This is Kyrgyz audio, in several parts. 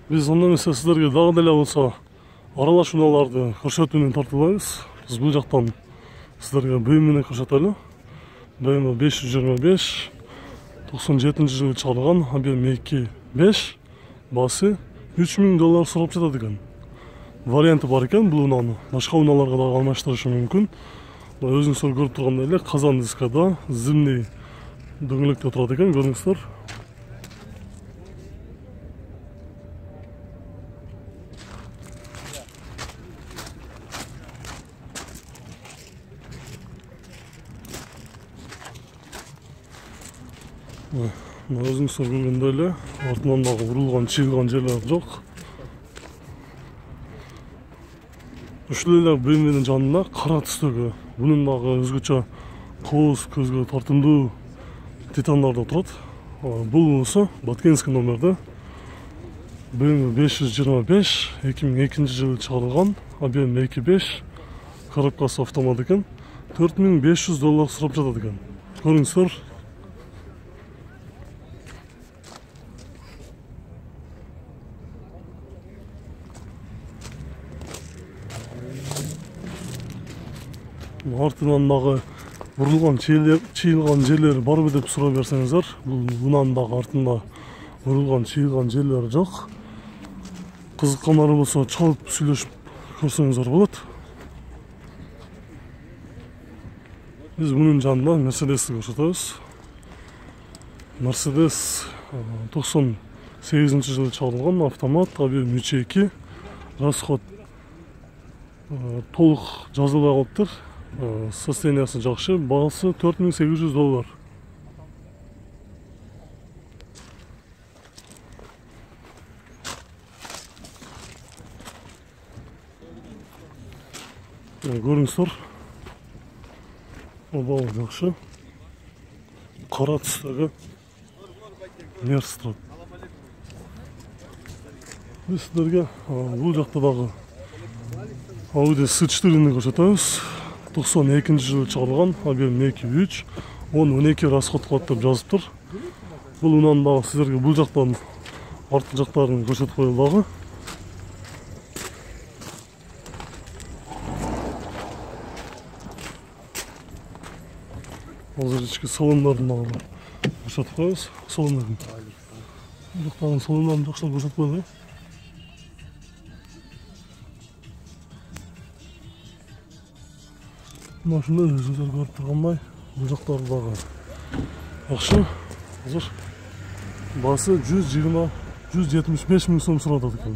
Биз анда эмесе сиздерге дагы деле болсо аралаш унааларды көрсөтүүнү тартуулайбыз. Биз бул жактан сиздерге BMW көрсөтөлү. BMW 525 97-жылы чыгарылган ABM2.5 баасы $3000 сурап жатат экен. Варианты бар экен, бул унаны башка унааларга дагы алмаштырышы мүмкүн. Өзүңүздөр көрүп тургандай эле казан дискада зимний дөңгөлөктө турат экен, көрүңүздөр. Өзүңүздөр көргөндөй эле артынан дагы урулган, чыйылган жерлер жок. Ушул эле BMW-нин жанында кара түстөгү, бунун дагы өзгөчө кооз, көзгө тартымдуу титандар да турат. Бул болсо Баткенский номерде BMW 525 2002-жылы чыгарылган ABM2.5 коробкасы автомат экен. $4500 сурап жатат экен. Көрүңүздөр. Артынан дагы урулган, чыйылган жерлери барбы деп сурап берсеңиздер, бул унанын дагы артында урулган, чыйылган жерлери жок. Кызыккандар болсо чалып сүйлөшүп көрсөңүздөр болот. Биз мунун жанында Mercedes'ти көрсөтөбүз. Mercedes 98-жылы чыгарылган автомат ABM 3.2. Расход толук жазылбай калыптыр. Состояниясы жакшы, баасы $4800. Көрүңүздөр. Баалы жакшы. Кара түстөгү Мерс турат. Биз сиздерге бул жакта дагы Audi S4-ни көрсөтөбүз. 92-жылы чыгарылган ABM2.3 10-12 расход кылат деп жазыптыр. Бул унаны дагы сиздерге бул жактан арткы жактарын көрсөтүп коелу дагы. Азыр ички салондорун дагы көрсөтүп коебуз. Салондорун. Бул жактагы салондорун жакшылап көрсөтүп коелу. Машина өзүңүздөр көрүп тургандай, бул жактары дагы жакшы. Азыр баасы 175 миң сом сурап атат экен.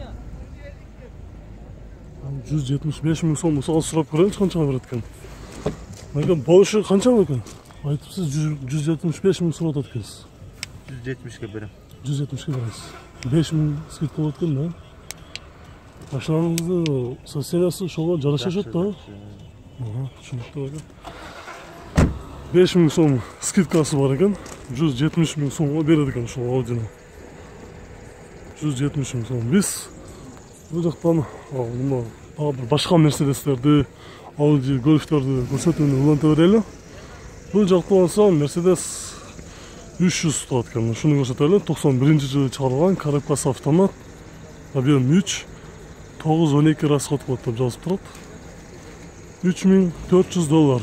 175 миң сом мисалы сурап көрөлүчү канчага берет экен. Мындан болушу канча экен? Айтыпсыз 175 миң сурап атат экенсиз. 170ке берем. 170ке бересиз. 5 миң скидка болот экен да. Машинаңыздын состояниясы ошого жарашат да. Түшүнүктүү экен. 5 миң сом скидкасы бар экен. 170 миң сомго берет экен ушул Audini. 170 миң сом. Биз бул жактан башка Mercedes'терди, Audi Golf'терди көрсөтүүнү уланта берели. Бул жакта болсо Mercedes 300 турат экен. Ушуну көрсөтөлү. 91-жылы чыгарылган коробкасы автомат ABM 3 9-12 расход кылат деп жазып турат. $3400.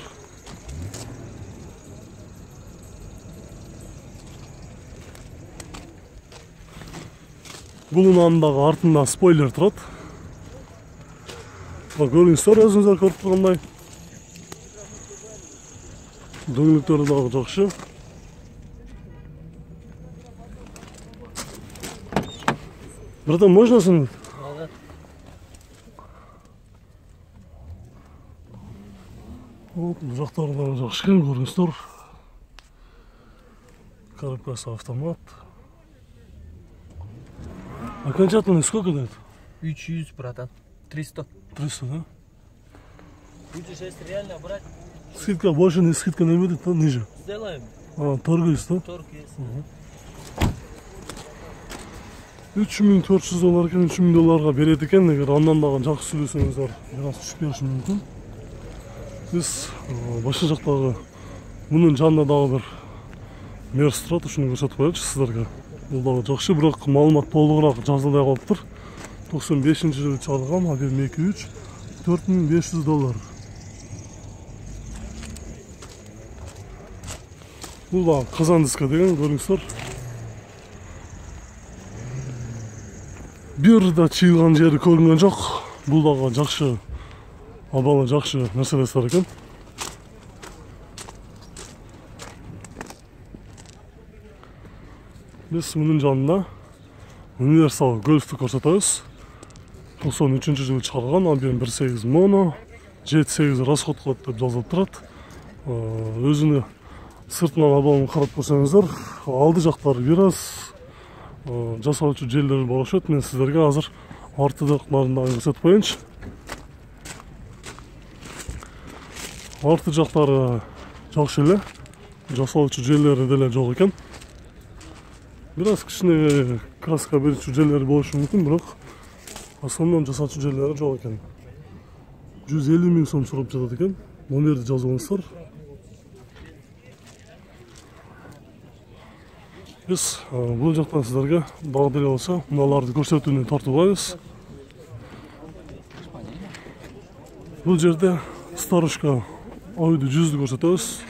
Бул унанын дагы артында спойлер турат. Көрүңүздөр, өзүңүздөр көрүп тургандай. Дөңгөлөктөрү дагы жакшы. Братан, можно снять? Бул жактары дагы жакшы экен, көрүңүздөр. Коробкасы автомат. Окончательно сколько дает? 300, братан. 300. 300, да? Будешь если реально брать? Скидка больше, не скидка не будет, то ниже. Сделаем. Торг есть, да? Торг есть. $3400 экен, $3000 берет экен. Эгер андан дагы жакшы сүйлөсөңүздөр, бир аз түшүп бериши мүмкүн. Биз башка жактагы мунун жанында дагы бир Мерс турат, ушуну көрсөтүп коелучу сиздерге. Бул дагы жакшы, бирок маалымат толугураак жазылбай калыптыр. 95-жылы чыгарылган, ABM 2.3 $4500. Бул да казан диска деген көрүңүздөр. Бир да чыйылган жери көрүнгөн жок. Бул дагы жакшы, абалы жакшы нерселер экен. Биз мунун жанында универсал гольфту көрсөтөбүз. 93-жылы чыгарылган ABM 1.8 mono, 7.8 расход кылат деп жазылып турат. Өзүнүн сыртынан абалын карап көрсөңүздөр, алды жактары бир аз жасалчу жерлер бар окшойт. Мен сиздерге азыр артыдакларын дагы көрсөтүп коеюнчу. Арты жактары жакшы эле, жасалчу жерлери деле жок экен. Бир аз кичине краска берүүчү жерлери болушу мүмкүн, бирок основном жасалчу жерлери жок экен. 150 000 сом сурап жатат экен. Номерди жазып алыңыздар. Биз бул жактан сиздерге дагы деле болсо мыналарды көрсөтүүнү тартып алабыз. Бул жерде старушка ойду 100ду көрсөтөбүз.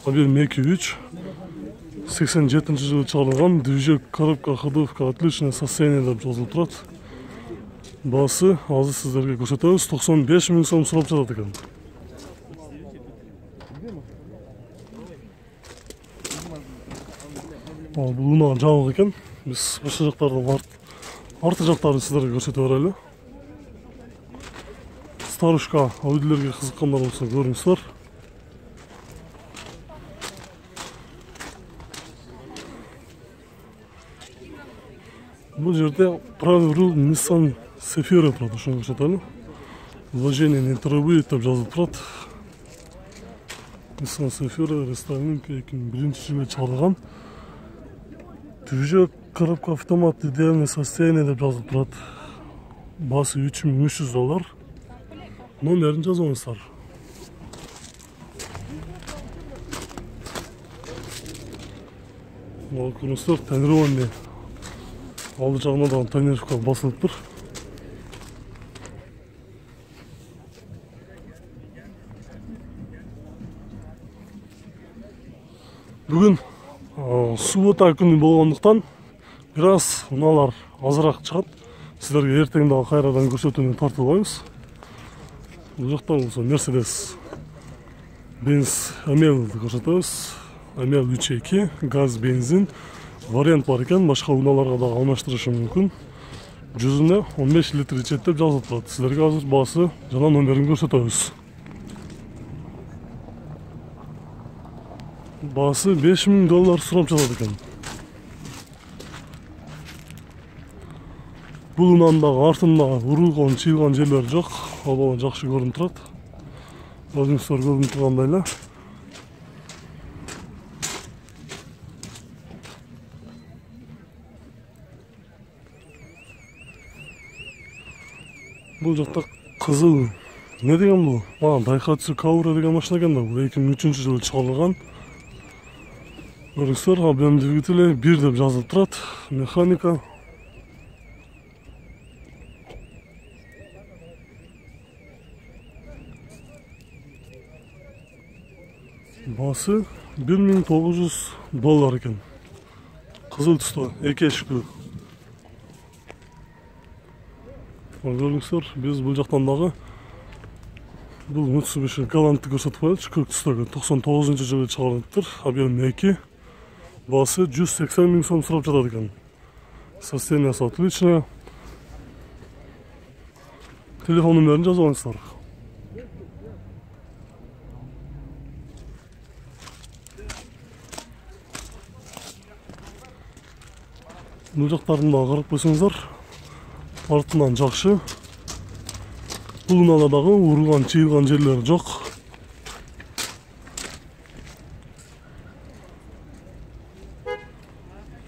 ABM 2.3 87-жылы чыгарылган, движок, коробка, ходовка отличное состояние деп жазылып турат. Баасы азыр сиздерге көрсөтөбүз. 95 000 сом сурап жатат экен. Бул унаа жабык экен. Биз ошол жактарды арты жактарын сиздерге көрсөтүп берели. Старушка ойдулерге кызыккандар болсо көрүңүздөр. Бул жерде правый руль Nissan Safira турат, ошону көрсөтөлү. Вложение не требует деп жазылып турат. Nissan Safira рестайлинг 2001-жылы чыгарылган. Движок, коробка, автомат, идеальное состояние деп жазылып турат. Баасы $3300. Номерин жазып алыңыздар. Мына көрүңүздөр, тонирование. Алды жагына да тонировка басылып тур. Бүгүн суббота күнү болгондуктан бир аз унаалар азыраак чыгат. Сиздерге эртең дагы кайрадан көрсөтүүнү тартып алабыз. Бул жакта болсо Mercedes Benz Amel көрсөтөбүз. Amel 3.2 газ, бензин вариант бар экен, башка унааларга дагы алмаштырышы мүмкүн. 100-үнө 15 литр ичет деп жазылып турат. Сиздерге азыр баасы жана номерин көрсөтөбүз. Баасы $5000 сурап жатат экен. Бул унаанын дагы артында урулган, чыйылган жерлери жок. Абалы жакшы көрүнүп турат. Өзүңүздөр көрүнүп тургандай эле. Бул жакта кызыл не деген бул? Daihatsu Kaura деген машина экен да. Бул 2003-жылы чыгарылган. Көрүңүздөр, ABM двигатели 1 деп жазылып турат. Механика. Баасы $1900 экен. Кызыл түстө, эки эшиктүү. Көрүңүздөр, биз бул жактан дагы бул Mitsubishi Galant'ты көрсөтүп коелучу. Көк түстөгү 99-жылы чыгарылыптыр. ABM 2. Баасы 180 000 сом сурап жатат экен. Состояниясы отличное. Телефон номерин жазып алыңыздар. Бул жактарын дагы карап койсоңуздар, артынан жакшы. Бул унаада дагы урулган, чыйылган жерлери жок.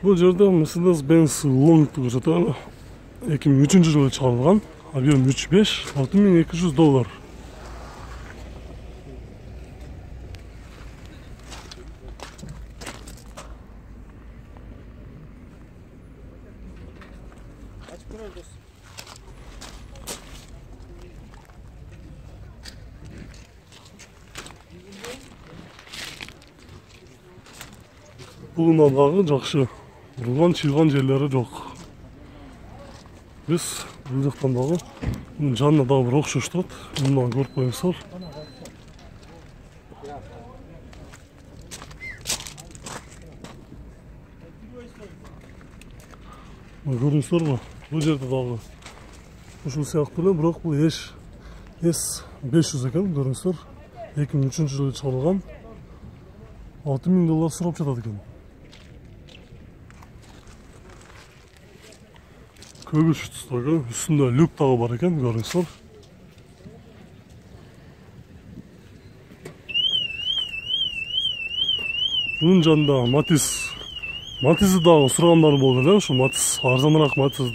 Бул жерде Mercedes-Benz Long'ду көрсөтөлү. 2003-жылы чыгарылган. ABM 3.5 $6200. Бугунан дагы жакшы урган, чыйган жерлери жок. Биз бул жактан дагы жанына дагы бир окшош турат. Мындан көрүп коюңуздар. Көрүңүздөрбү? Бул жерде дагы ушул сыяктуу эле, бирок бул S500 экен, көрүңүздөр. 2003-жылы чыгарылган. $6000 сурап жатат экен. Көгүч түстөгү, үстүндө люк дагы бар экен, көрүңүздөр. Bunun жанында Матизди дагы сурагандар болду эле, ушу Матиз арзаныраак Матиз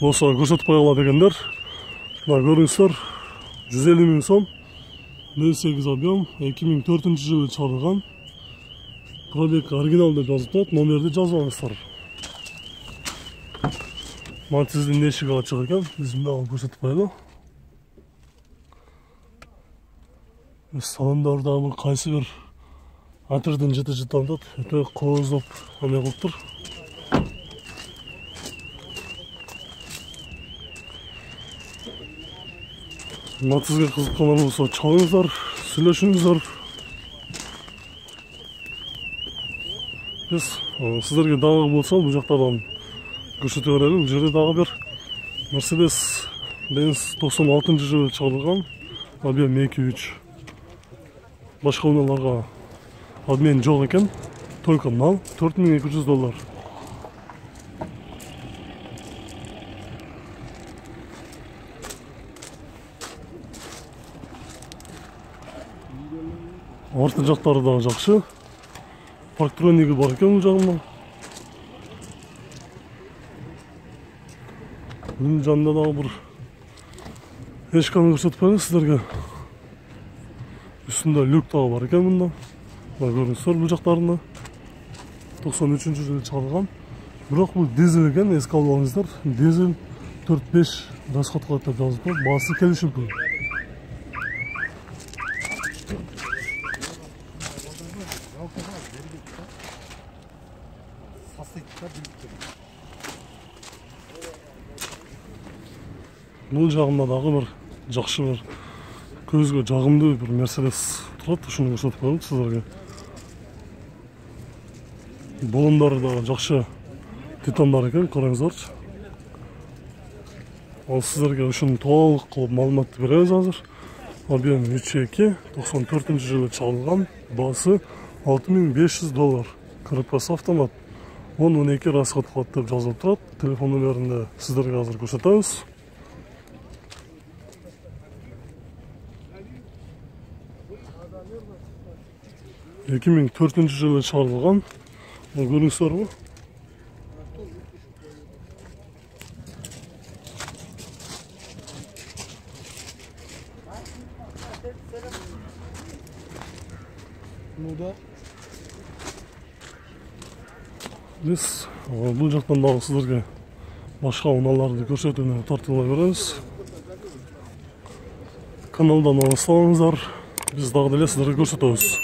болсо көрсөтүп кое алат дегендер. Мына көрүңүздөр, 150 000 сом, 08 объем, 2004-жылы чыгарылган. Пробег оригинал деп жазып турат, номерди жазып алыңыздар. Матиздин эшиги ачык экен, биз мына көрсөтүп коелу. Салондор дагы кайсы бир атырдын жыты-жытандат, өтө кооздоп ане кылып тур. Матизге кызыккандар болсо чалыңыздар, сүйлөшүңүздөр. Биз сиздерге дагы болсо бул жактардан көрсөтө берели. Бул жерде дагы бир Mercedes-Benz 96-жылы чыгарылган объем 2.3. Башка унааларга обмен жок экен. Только мал $4200. Арты жактары дагы жакшы. Парктрониги бар экен бул жагында. Бунун жанында дагы бир эшканы көрсөтүп коелу сиздерге. Üstünde люк дагы бар экен мында. Мына көрүңүздөр бул жактарында. 93-жылы чыгарылган. Бирок бул дизель экен, эске алып алыңыздар. Дизель 4-5 расход кылат деп жазып турат. Баасы келишилип. Бул жагында дагы бир жакшы бир көзгө жагымдуу бир Mercedes турат, ушуну көрсөтүп коелу сиздерге. Болондары да жакшы титандар экен, караңыздарчы. Ал сиздерге ушуну толук кылып маалыматты беребиз азыр. Объем 3.2, 94-жылы чыгарылган, баасы $6500. КРПС автомат. 10-12 расход кылат деп жазылып турат. Телефон номеринде сиздерге азыр көрсөтөбүз. Эки миң 4-жылы чыгарылган. Көрүңүздөрбү? Биз бул жактан дагы сиздерге башка унааларды көрсөтүүнү тартыла беребиз. Каналдан алыстабаңыздар. Биз дагы деле сиздерге көрсөтөбүз.